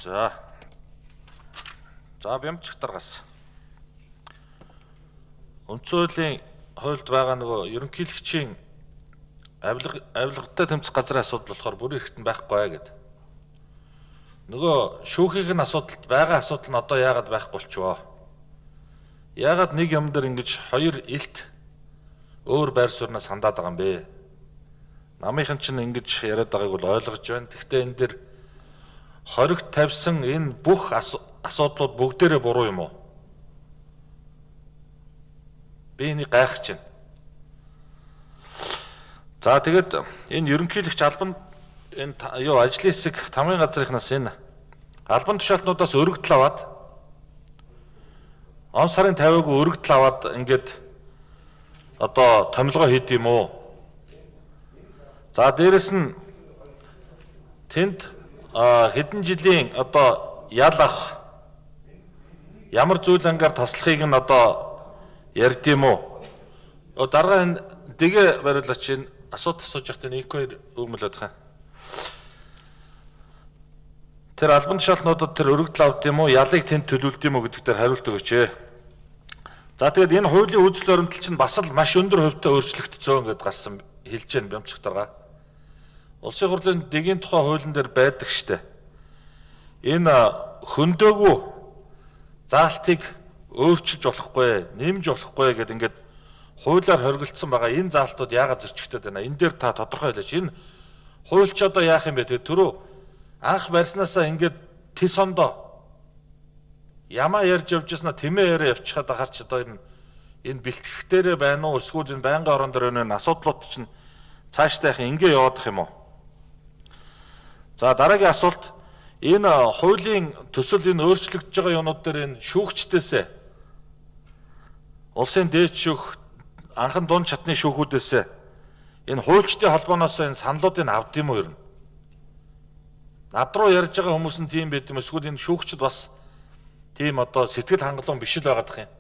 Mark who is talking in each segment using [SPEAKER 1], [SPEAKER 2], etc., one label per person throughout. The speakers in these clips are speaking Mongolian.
[SPEAKER 1] За бямжчих даргаас. Үндсэн хуулийн хуульд байгаа нөгөө ерөнхийлөгчийн авилгатай тэмцэх газрын асуудал болохоор бүрэн хэрэгтэн байхгүй гэд. Нөгөө шүүхийн асуудалд байгаа асуудал нь одоо яагаад байхгүй болчихвоо? Яагаад нэг юм дээр ингэж хоёр илт өөр байр сууриас хандаад байгаа юм бэ? Намынхан чинь ингэж яриад байгааг бол ойлгож байна. Гэхдээ энэ дэр хоригт тавьсан энэ бүх асуудлууд бүгдээрээ буруу юм уу? Би энийг гайхаж байна. За тэгээд энэ ерөнхийлөгч албан энэ ажлын хэсэг тамгын газрынхнаас энэ албан тушаалтнуудаас өргөдөл аваад он сарын 50-г өргөдөл аваад ингээд одоо томилгоо хийд юм уу? За дээрэс нь тэнд хэдэн жилийн одоо ял ах ямар зүйл ангаар таслахыг нь одоо ярьд юм уу? Дараа энэ дэгэ бариулаач энэ асуулт асууж байхдаа нэг хоёр өгмөлөд хаа. Тэр албан тушаалтнуудад тэр өргөдөл авд юм уу? Ялыг тэнд төлөвлөд юм уу гэдэг дээр хариулт өгөөч. За тэгээд энэ хуулийн үйлчлэл баримтал чинь бас л маш өндөр хувьтай өөрчлөгдсөн гэдээ гарсан хэлж байна бямцх дарга. Улсын хурлын дэгийн тухай хуулийн дээр байдаг штэ. Энэ хөндөөгөө заалтыг өөрчилж болохгүй, нэмж болохгүй гэдэг ингээд хуулиар хоригдсан байгаа энэ заалтууд яагаад зөрчигдөд байна? Энэ дээр та тодорхой хэлээч. Энэ хууль ч одоо яах юм бэ? Тэгээ түрүү анх барьснаасаа ингээд тис ондоо ямаа ярьж явж яснаа тэмээ яриа явчихад ахаар ч одоо энэ бэлтгэхтэрээ байна уу? Эсвэл энэ байнгын орон дээр энэ асуудлууд чинь цаашдаа их ингээ яваадах юм уу? За дараагийн асуулт энэ хуулийн төсөл энэ өөрчлөгдөж байгаа юмнууд дээр энэ шүүгчдээсээ улсын дээд шүүх анхан дунд чатны шүүхүүдээсээ энэ хуульчдын холбооноос энэ саналуудыг авд юм уу ер нь? Над руу ярьж байгаа хүмүүс нь тийм байд юм эсвэл энэ шүүгчд бас тийм одоо сэтгэл хангалуун биш л байгаадах юм.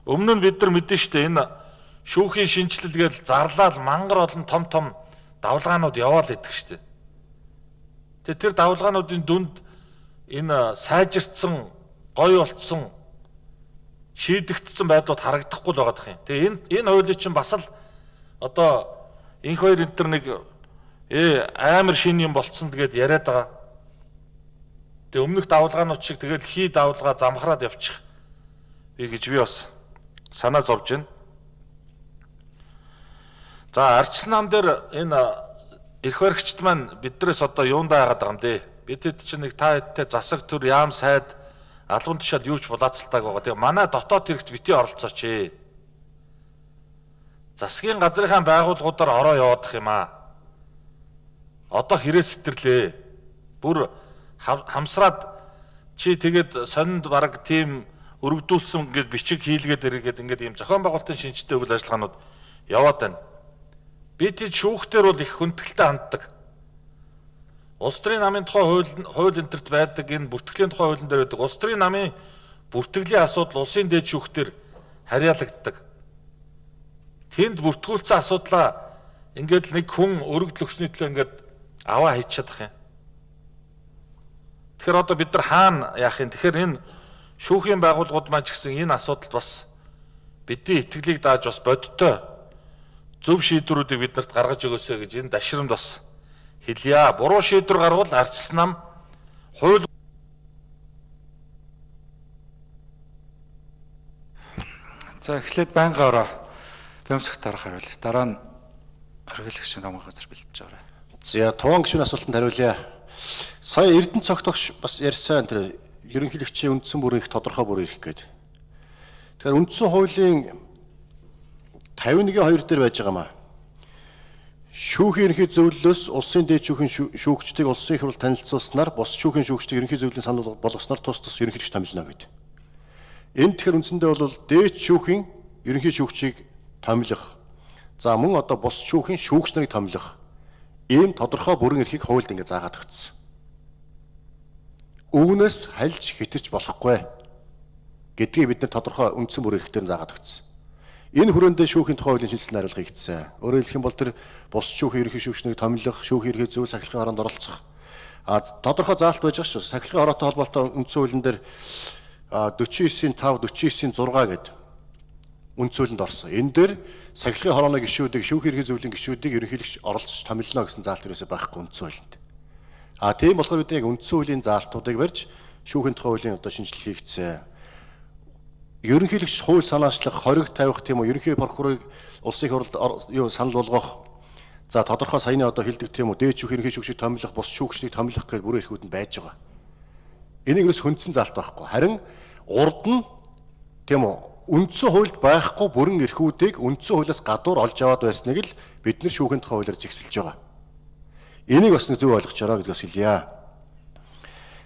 [SPEAKER 1] Өмнө нь бид нар мэдэн штэ энэ шүүхийн шинжилэл гэж зарлал мангар олон том давлгаанууд яваал идэх штэ. Тэгээ тэр давлгаануудын дүнд энэ сайжирцсан, гоё болцсон, шийдэгдсэн байдлууд харагдахгүй л байгаадах юм. Тэгээ энэ хуулийн чинь бас л одоо энэ хоёр энэ төр нэг амар шин юм болцсон тэгээд яриад байгаа. Тэгээ өмнөх давлгаанууд шиг тэгэл хий давлгаа замхраад явчих. Би бас санаа зовж байна. За арчсан нам дээр энэ эрх баригчд маань биднээс одоо юундаа яагаад байгаа юм бэ? Бидэд чинь нэг та хэдтэй засаг төр яам сайд албан тушаал юу ч булаацалтайг байгаа. Тэгээ манай дотоод хэрэгт бити оролцооч. Засгийн газрынхаа байгууллагуудаар ороо яваадах юм аа. Одоо хэрэг сэтэрлээ. Бүр хамсраад чи тэгээд сонинд бараг тийм өргөдүүлсэн ингээд бичиг хийлгээд иргээд ингээд ийм зохион байгуулалтын шинжтэй үйл ажиллагаанууд яваад байна. Бид шүүхтэр бол их хүндэтгэлтэй ханддаг. Улс төрийн намын тухай хууль энтерт байдаг энэ бүртгэлийн тухай хуулийн дээр байдаг. Улс төрийн намын бүртгэлийн асуудал улсын дээд шүүхтэр харьяалагддаг. Тэнд бүртгүүлсэн асуудлаа ингээд нэг хүн өргөдөл өгсөний төлөө ингээд аваа хийж чадах юм. Тэгэхээр одоо бид нар хаана яах юм? Тэгэхээр энэ шүүхийн байгууллагууд маань ч гэсэн энэ асуудалд бас бидний итгэлийг дааж бас бодиттой зөв шийдвэрүүдийг биднэрт гаргаж өгөөсэй гэж энэ дашрамд бас хэлье. Буруу шийдвэр гарвал арчсан нам хууль.
[SPEAKER 2] За эхлээд байнгын ороо бямцх дарга хариул. Дараа нь оргилагчийн тамгын газар бэлдэж байгаа.
[SPEAKER 3] За туван гишүүний асуултанд хариулъя. Сая Эрдэнэ цогтогч бас ярьсан тэр ерөнхийлөгчийн үндсэн бүрийн тодорхой бүр ирэх гээд. Тэгэхээр үндсэн хуулийн 51-2 дээр байж байгаа маа. Шүүхийн ерөнхий зөвлөлөөс улсын дээд шүүхийн шүүгчдийг улсын их хурл танилцуулснаар бус шүүхийн шүүгчдийг ерөнхий зөвлөлийн санал болгосноор тус ерөнхийлөгч томилно гэдэг. Энд тэгэхээр үндсэндээ бол дээд шүүхийн ерөнхий шүүгчийг томилох. За мөн одоо бус шүүхийн шүүгч нарыг томилох. Ийм тодорхой бүрэн эрхийг хуульд ингэ заагаад өгсөн. Үүнээс хальж хэтэрч болохгүй гэдгийг бид нар тодорхой үндсэн бүр эрхтээр заагаад өгсөн. Энэ хүрээндээ шүүхийн тухай хуулийн шинжилсэн хариулга хийгдсэн. Өөрөөр хэлэх юм бол тэр бус шүүхийн ерөнхий шүүгчнийг томилох, шүүхийн ерхий зөв сахилгын оронд оролцох, Тодорхой заалт байж байгаа шүү. Сахилгын хороотой холбоотой үндсэн хуулийн дээр 49-ийн 5, 49-ийн 6 гэдэг үндсэн хуулинд орсон. Энэ дээр сахилгын хорооны гишүүдийг, шүүх эрхийн зөвлөлийн гишүүдийг ерөнхийлөгч оролцож томилно гэсэн заалт ерөөсөй байхгүй үндсэн хуулинд. Тийм болохоор бид яг үндсэн хуулийн заалтуудыг барьж шүүхийн тухай хуулийн одоо шинжилгээ хийгдсэн. Ерөнхийлөгч хууль санаачлах, хориг тавих тийм үү, ерөнхий прокурорыг улсын их хурлд санал болгох. За тодорхой саяны одоо хэлдэг тийм үү, дээд шүүх ерөнхий шүүгчийг томилох, бус шүүгчдийг томилох гэх бүрэн эрхүүд нь байж байгаа. Энийг ерөөс хөндсөн заалт байхгүй. Харин урд нь тийм үү, үндсэн хуульд байхгүй бүрэн эрхүүдийг үндсэн хуулиас гадуур олж аваад байсныг л бид нар шүүхийн тухай хуулиар зэгсэлж байгаа. Энийг бас нэг зөв ойлгочоорой гэдгээс хэлье.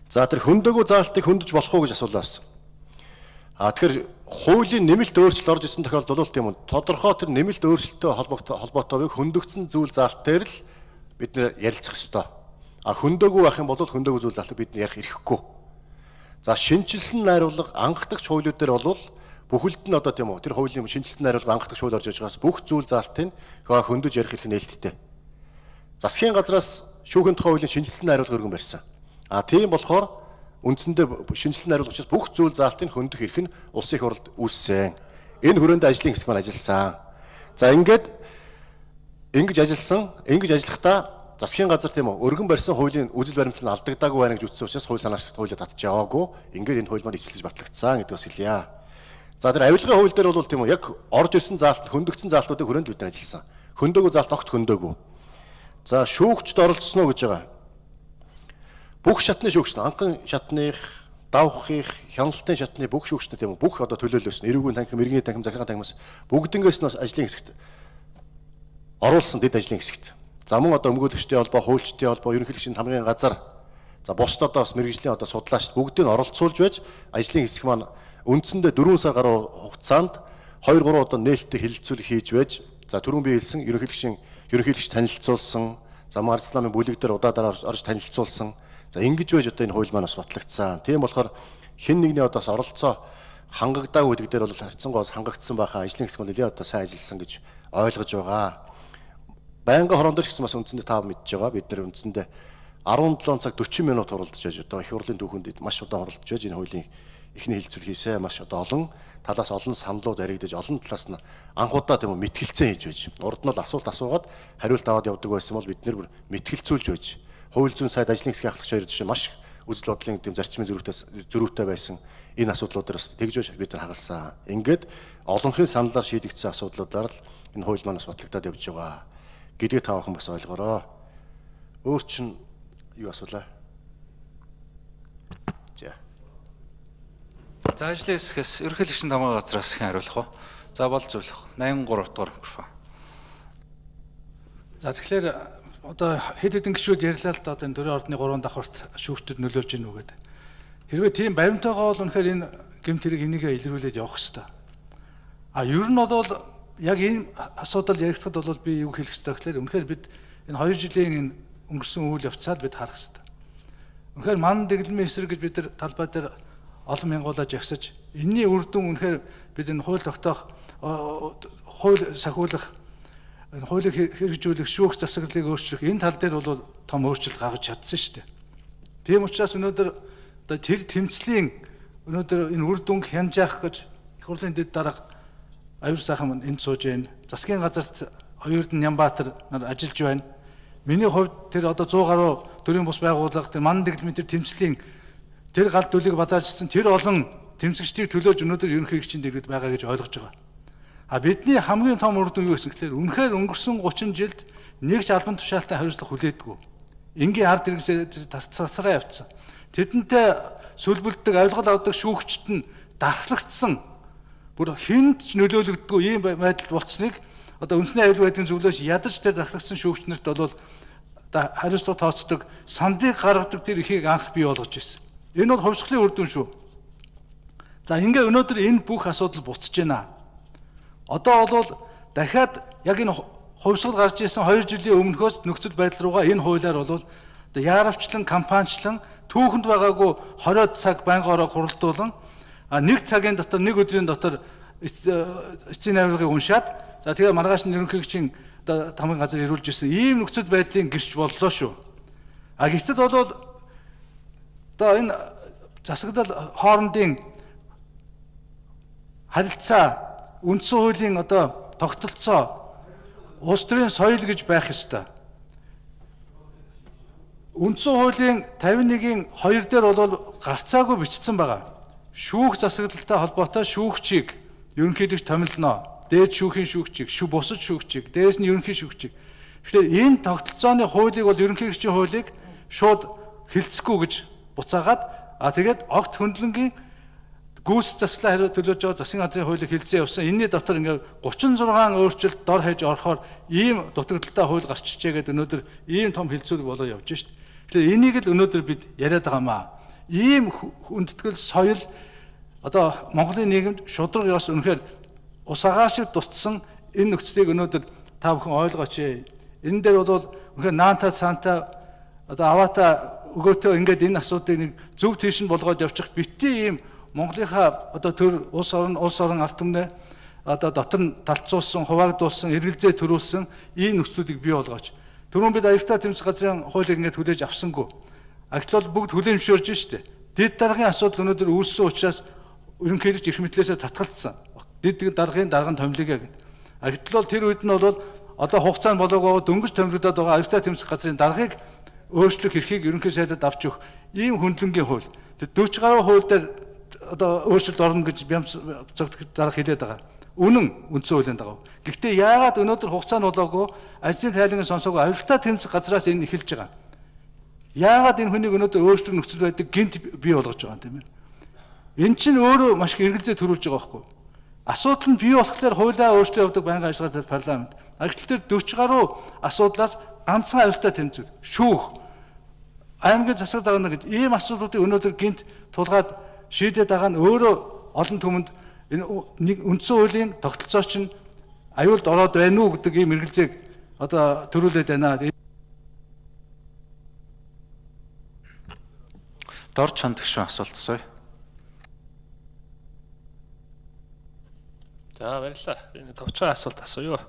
[SPEAKER 3] За тэр хөндөөгөө заалтыг хөндөж болох уу гэж асуулаас. Тэгэхээр хуулийн нэмэлт өөрчлөлт орж исэн тохиолдолд тийм үү, тодорхой тэр нэмэлт өөрчлөлттэй холбоотой хөндөгдсөн зүйл заалт дээр л бид нэр ярилцах ёстой. Хөндөөгүй байх юм бол хөндөөгүй зүйл заалтыг бид ярих эрхгүй. За шинжилсэн найруулга анхдагч хуулиуд дээр бол бүхэлд нь одоо тийм үү, тэр хуулийн шинжилсэн найруулга анхдагч хууль орж иж байгаас бүх зүйл заалтыг хөндөж ярих эрх нээлттэй. Засгийн газраас шүүхийн тухай хуулийн шинжилсэн найруулга өргөн барьсан. Тийм болохоор үндсэндээ шинжилсэн найруулгачаас бүх зүйл заалтыг хөндөх эрх нь улсын их хурлд үүссэн. Энэ хүрээнд ажлын хэсэг маань ажилласан. За ингэж ажиллахдаа засгийн газар тийм үү, өргөн барьсан хуулийн үзэл баримтлал нь алдагдаагүй байна гэж үзсэн учраас хууль санаачлалт хуулиуд татж яваагүй. Ингээд энэ хууль маань эцэлж батлагдсан гэдгээс хэлье. За тэр авилгын хууль дээр бол тийм үү, яг орж ирсэн заалт, хөндөгдсөн заалтуудыг хүрээнд бид нар ажилласан. Хөндөөгүй заалт огт хөндөөгүй. За шүүгчд оролцсон уу гэж байгаа. Бүх шатны шүүгч, анхан шатных, давхих, хяналтын шатны бүх шүүгчнүүд тийм үү, бүх одоо төлөөлөөс нь эрүүгийн танхим, иргэний танхим, захиргааны танхимаас бүгднгээс нь ажлын хэсэгт оруулсан дэд ажлын хэсэгт. За мөн одоо өмгөөлөгчдийн холбоо, хуульчдын холбоо, ерөнхийлөгчийн хамгийн газар, за бусдад одоо бас мэргэжлийн одоо судлаач бүгдийг нь оролцуулж байж ажлын хэсэг маань үндсэндээ 4 сар гаруй хугацаанд 2-3 одоо нээлттэй хэлэлцүүлэг хийж байж, за түрүүн би хэлсэн ерөнхийлөгч танилцуулсан, за Марцламын бүлэг дээр удаадараа орж танилцуулсан. За ингэж байж одоо энэ хууль маань бас батлагдсан. Тийм болохоор хэн нэгний одоос оролцоо хангагдаагүй гэдэг дээр бол хайцсангоос хангагдсан байхаа ажлын хэсэг нь нэлээд одоо сайн ажилласан гэж ойлгож байгаа. Байнгын хорон дээр ч гэсэн бас үндсэндээ тав мэдж байгаа. Бид нэр үндсэндээ 17 цаг 40 минут оролдож байж одоо их хурлын түүхэнд маш удаан оролдож байж энэ хуулийн эхний хэлэлцүүлэг хийсэн. Маш одоо олон талаас олон саналууд яригдаж олон талаас нь анхудаа тийм мэтгэлцэн хийж байж. Урд нь бол асуулт асуугаад хариулт аваад явдаг байсан бол бид нэр мэтгэлцүүлж байж. Хууль зүйн сайд ажлын хэсгийн ахлагч хоёр жишээ маш үзэл бодлын тийм зарчмын зөрүүтэй байсан энэ асуудлуудаар бас тэгж бид нар хагалсан. Ингээд олонхын саналаар шийдэгдсэн асуудлуудаар л энэ хууль маань бас батлагдаад явж байгаа гэдгийг та бүхэн бас ойлгоорой. Өөр чинь юу асуулаа?
[SPEAKER 2] За ажлын хэсгээс ерөнхийлөгчийн тамга газраас хэн хариулах вэ? За бол зөвлөх. 83 дугаар микрофон.
[SPEAKER 4] За тэгэхээр одоо хэд хэдэн гишүүд ярьлаа л да одоо энэ төрийн ордны 3 давхарт шүүгчдэд нөлөөлж гин үгээд. Хэрвээ тийм баримтайгаа бол үнэхээр энэ гэмт хэрэг энийгээ илрүүлээд явах хэрэгтэй. Ер нь бол яг энэ асуудал яригдахад бол би юу хэлэх хэрэгтэй гэхээр үнэхээр бид энэ 2 жилийн энэ өнгөрсөн үйл явцад бид харах хэрэгтэй. Үнэхээр ман дэглэмийн эсрэг гэж бид нар талбай дээр олон мянгуулаа жагсаж энэний үр дүн үнэхээр бид энэ хууль тогтоох хууль сахиулах хуулийг хэрэгжүүлэх шүүх засаглалыг өөрчлөх энэ тал дээр бол том өөрчлөлт гаргаж чадсан шүү дээ. Тийм учраас өнөөдөр одоо тэр тэмцлийн өнөөдөр энэ үр дүнг хянжаах гэж их хурлын дэд дарга аюул сайхан энд сууж байна. Засгийн газарт Оюурдан Нямбаатар нар ажиллаж байна. Миний хувьд тэр одоо 100 гаруй төрийн бус байгууллага тэр ман дэглэмийн тэр тэмцлийн тэр гал дүлийг бадаажсан тэр олон тэмцэгчдийг төлөөж өнөөдөр ерөнхийлөгчийн дэргэд байгаа гэж ойлгож байгаа. Бидний хамгийн том үр дүн юу гэсэн гэхээр үнэхээр өнгөрсөн 30 жилд нэг ч албан тушаалтай хариуцлага хүлээдэггүй. Энгийн ард иргэсээ тасараа явцсан. Тэдэнтэй сүлбэлдэг, авилгал авдаг шүүгчд нь дархлагдсан. Бүр хүнд ч нөлөөлөгддөггүй ийм байдал болцсныг одоо үндэсний аюулгүй байдлын зөвлөөс ядаж тэр дархлагдсан шүүгчнэрт бол хариуцлага тооцдог, сандыг гаргадаг тэр ихийг анх бий болгож ирсэн. Энэ бол хувьсгалын үр дүн шүү. За ингээ өнөөдөр энэ бүх асуудал буцаж байна. Одоо бол дахиад яг энэ хувьсгал гарч ирсэн 2 жилийн өмнөхөөс нөхцөл байдал руугаа энэ хуулиар бол яаравчлан, кампанчлан түүхэнд байгаагүй 20 цаг байнга ороо хуралдуулан нэг цагийн дотор, нэг өдрийн дотор эцсийн найруулгыг уншаад за тэгээ маргааш нь ерөнхийлөгчийн тамгын газар ирүүлж ирсэн ийм нөхцөл байдлын гэрч боллоо шүү. А гэтэл бол одоо энэ засаглал хоорондын харилцаа үндсэн хуулийн одоо тогтолцоо улс төрийн соёл гэж байх ёстой. Үндсэн хуулийн 51-ийн 2 дээр бол гарцаагүй бичсэн байгаа. Шүүх засаглалтай холбоотой шүүгчийг ерөнхийлөгч томилно. Дээд шүүхийн шүүгчийг, бусад шүүгчийг, дээрээс нь ерөнхий шүүгчийг. Тэгэхээр энэ тогтолцооны хуулийг бол ерөнхийлөгчийн хуулийг шууд хэлцэхгүй гэж буцаагаад тэгээд огт хөндлөнгийн гүйс заслаа төлөөж байгаа засгийн газрын хуулийг хэлцээ явсан. Энэний дотор ингээд 36 өөрчлөлт дор хаяж орохоор ийм дутагдaltaй хууль гарч ичээгээд өнөөдөр ийм том хилцүүлэг болоо явж шít. Тэгэхээр энийг л өнөөдөр бид яриад байгаамаа. Ийм хүндэтгэл соёл одоо Монголын нийгэмд шудраг ёс үнэхээр ус агаар шиг дутсан энэ нөхцөлийг өнөөдөр та бүхэн ойлгооч. Энэ дээр бол үнэхээр наанта цаанта одоо аваата өгөөтөө ингээд энэ асуудыг нэг зөв тийш нь болгоод явчих битгий ийм Монголынхаа одоо төр улс орон ард түмнээ одоо дотор нь талцуулсан, хуваагдуулсан, эргэлзээ төрүүлсэн ийм нөхцөлийг бий болгооч. Түрүүн бид аюултай тэмцэх газрын хуулийг ингээд хүлээж авсангүй. Агтл бол бүгд хүлээмжшөөрж штэ. Дэд даргын асуудал өнөөдөр үүссэн учраас ерөнхийлөгч эрх мэтлээсээ татгалцсан. Дэд даргын томилъя гэдэг. Агтл бол тэр үед нь бол одоо хугацаанд болоогоо дөнгөж томилогдоод байгаа аюултай тэмцэх газрын даргыг өөрчлөх эрхийг ерөнхий сайдад авч өгөх ийм хөндлөнгийн хууль. Тэр 40 гаруй хууль дээр одоо өөрчлөлт орно гэж бямц зөвхөн дарга хэлээд байгаа. Үнэн үндсэн хуулийн дагав. Гэхдээ яагаад өнөөдөр хугацаанд болоогүй ажлын тайлангийн сонсоогүй аюултай тэмцэх газраас энэ эхэлж байгаа. Яагаад энэ хүнийг өнөөдөр өөрчлөх нөхцөл байдал гинт бий болгож байгаа юм тийм ээ. Энэ чинь өөрөө маш их эргэлзээ төрүүлж байгаа байхгүй. Асуудал нь бий болохоор хуулиа өөрчлөлт явуулдаг байнгын ажиллагаа парламент. Агтл дээр 40 гаруй асуудлаас ганцхан аюултай тэмцэл шүүх аймгийн засаг дарга гэж ийм асуудлуудыг өнөөдөр гинт тулгаад шийдээд байгаа нь өөрөө олон түмэнд энэ нэг үндсэн хуулийн тогтолцоо чинь аюулд ороод байна уу гэдэг ийм эргэлзээг одоо төрүүлээд байна.
[SPEAKER 2] Дор чанд гişүн асуулт асууя.
[SPEAKER 5] За баярлалаа. Энэ товчхон асуулт асууя.